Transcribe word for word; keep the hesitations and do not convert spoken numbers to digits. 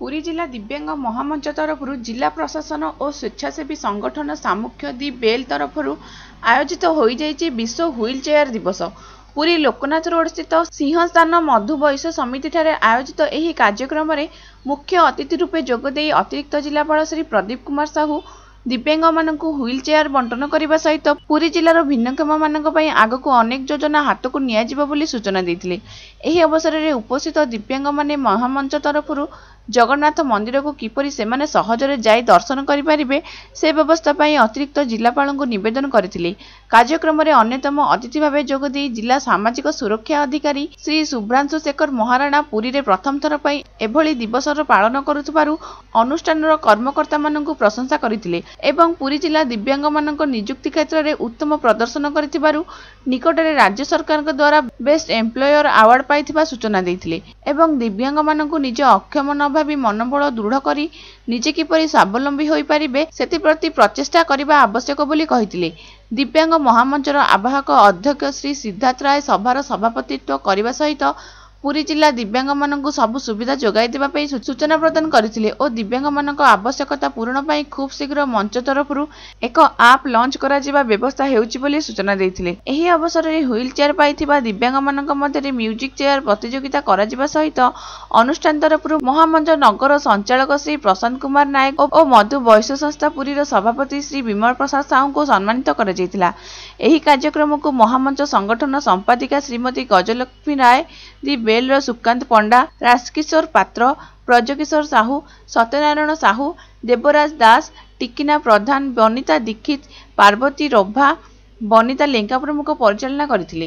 ପୁରୀ ଜିଲ୍ଲା ଦିବ୍ୟାଙ୍ଗ ମହାମଞ୍ଚ ତରଫରୁ ଜିଲ୍ଲା ପ୍ରଶାସନ ଓ ସ୍ୱେଚ୍ଛାସେବୀ ସଂଗଠନ ସାମ୍ମୁଖ୍ୟ ଦି ବେଲ୍ ତରଫରୁ ଆୟୋଜିତ ହୋଇଯାଇଛି ବିଶ୍ୱ ହ୍ୱିଲ୍ ଚେୟାର ଦିବସ। ପୁରୀ ଲୋକନାଥ ରୋଡସ୍ଥିତ ସିଂହସ୍ଥାନ ମଧୁ ବୈଶ୍ୟ ସମିତିଠାରେ ଆୟୋଜିତ ଏହି କାର୍ଯ୍ୟକ୍ରମରେ ମୁଖ୍ୟ ଅତିଥି ରୂପେ ଯୋଗଦେଇ ଅତିରିକ୍ତ ଜିଲ୍ଲାପାଳ ଶ୍ରୀ ପ୍ରଦୀପ କୁମାର ସାହୁ ଦିବ୍ୟାଙ୍ଗମାନଙ୍କୁ ହ୍ୱିଲ୍ ଚେୟାର ବଣ୍ଟନ କରିବା ସହିତ ପୁରୀ ଜିଲ୍ଲାର ଭିନ୍ନକ୍ଷମମାନଙ୍କ ପାଇଁ ଆଗକୁ ଅନେକ ଯୋଜନା ହାତକୁ ନିଆଯିବ ବୋଲି ସୂଚନା ଦେଇଥିଲେ। ଏହି ଅବସରରେ ଉପସ୍ଥିତ ଦିବ୍ୟାଙ୍ଗମାନେ ମହାମଞ୍ଚ ତରଫରୁ ଜଗନ୍ନାଥ ମନ୍ଦିରକୁ କିପରି ସେମାନେ ସହଜରେ ଯାଇ ଦର୍ଶନ କରିପାରିବେ, ସେ ବ୍ୟବସ୍ଥା ପାଇଁ ଅତିରିକ୍ତ ଜିଲ୍ଲାପାଳଙ୍କୁ ନିବେଦନ କରିଥିଲେ। କାର୍ଯ୍ୟକ୍ରମରେ ଅନ୍ୟତମ ଅତିଥି ଭାବେ ଯୋଗଦେଇ ଜିଲ୍ଲା ସାମାଜିକ ସୁରକ୍ଷା ଅଧିକାରୀ ଶ୍ରୀ ଶୁଭ୍ରାଂଶୁ ଶେଖର ମହାରଣା ପୁରୀରେ ପ୍ରଥମ ଥର ପାଇଁ ଏଭଳି ଦିବସର ପାଳନ କରୁଥିବାରୁ ଅନୁଷ୍ଠାନର କର୍ମକର୍ତ୍ତାମାନଙ୍କୁ ପ୍ରଶଂସା କରିଥିଲେ ଏବଂ ପୁରୀ ଜିଲ୍ଲା ଦିବ୍ୟାଙ୍ଗମାନଙ୍କ ନିଯୁକ୍ତି କ୍ଷେତ୍ରରେ ଉତ୍ତମ ପ୍ରଦର୍ଶନ କରିଥିବାରୁ ନିକଟରେ ରାଜ୍ୟ ସରକାରଙ୍କ ଦ୍ୱାରା ବେଷ୍ଟ ଏମ୍ପ୍ଲୟର ଆୱାର୍ଡ ପାଇଥିବା ସୂଚନା ଦେଇଥିଲେ ଏବଂ ଦିବ୍ୟାଙ୍ଗମାନଙ୍କୁ ନିଜ ଅକ୍ଷମ ନ ଭାବି ମନୋବଳ ଦୃଢ଼ କରି ନିଜେ କିପରି ସ୍ୱାବଲମ୍ବୀ ହୋଇପାରିବେ, ସେଥିପ୍ରତି ପ୍ରଚେଷ୍ଟା କରିବା ଆବଶ୍ୟକ ବୋଲି କହିଥିଲେ। ଦିବ୍ୟାଙ୍ଗ ମହାମଞ୍ଚର ଆବାହକ ଅଧ୍ୟକ୍ଷ ଶ୍ରୀ ସିଦ୍ଧାର୍ଥ ରାୟ ସଭାର ସଭାପତିତ୍ୱ କରିବା ସହିତ ପୁରୀ ଜିଲ୍ଲା ଦିବ୍ୟାଙ୍ଗମାନଙ୍କୁ ସବୁ ସୁବିଧା ଯୋଗାଇ ଦେବା ପାଇଁ ସୂଚନା ପ୍ରଦାନ କରିଥିଲେ ଓ ଦିବ୍ୟାଙ୍ଗମାନଙ୍କ ଆବଶ୍ୟକତା ପୂରଣ ପାଇଁ ଖୁବ୍ ଶୀଘ୍ର ମଞ୍ଚ ତରଫରୁ ଏକ ଆପ୍ ଲଞ୍ଚ କରାଯିବା ବ୍ୟବସ୍ଥା ହେଉଛି ବୋଲି ସୂଚନା ଦେଇଥିଲେ। ଏହି ଅବସରରେ ହ୍ୱିଲ୍ ଚେୟାର ପାଇଥିବା ଦିବ୍ୟାଙ୍ଗମାନଙ୍କ ମଧ୍ୟରେ ମ୍ୟୁଜିକ୍ ଚେୟାର ପ୍ରତିଯୋଗିତା କରାଯିବା ସହିତ ଅନୁଷ୍ଠାନ ତରଫରୁ ମହାମଞ୍ଚ ନଗର ସଞ୍ଚାଳକ ଶ୍ରୀ ପ୍ରଶାନ୍ତ କୁମାର ନାୟକ ଓ ମଧୁ ବୈଶ୍ୟ ସଂସ୍ଥା ପୁରୀର ସଭାପତି ଶ୍ରୀ ବିମଳ ପ୍ରସାଦ ସାହୁଙ୍କୁ ସମ୍ମାନିତ କରାଯାଇଥିଲା। ଏହି କାର୍ଯ୍ୟକ୍ରମକୁ ମହାମଞ୍ଚ ସଂଗଠନ ସମ୍ପାଦିକା ଶ୍ରୀମତୀ ଗଜଲକ୍ଷ୍ମୀ ରାୟ, ଦି ବେଲ୍ର ସୁକାନ୍ତ ପଣ୍ଡା, ରାଜକିଶୋର ପାତ୍ର, ବ୍ରଜକିଶୋର ସାହୁ, ସତ୍ୟନାରାୟଣ ସାହୁ, ଦେବରାଜ ଦାସ, ଟିକିନା ପ୍ରଧାନ, ବନିତା ଦୀକ୍ଷିତ, ପାର୍ବତୀ ରଭା, ବନିତା ଲେଙ୍କା ପ୍ରମୁଖ ପରିଚାଳନା କରିଥିଲେ।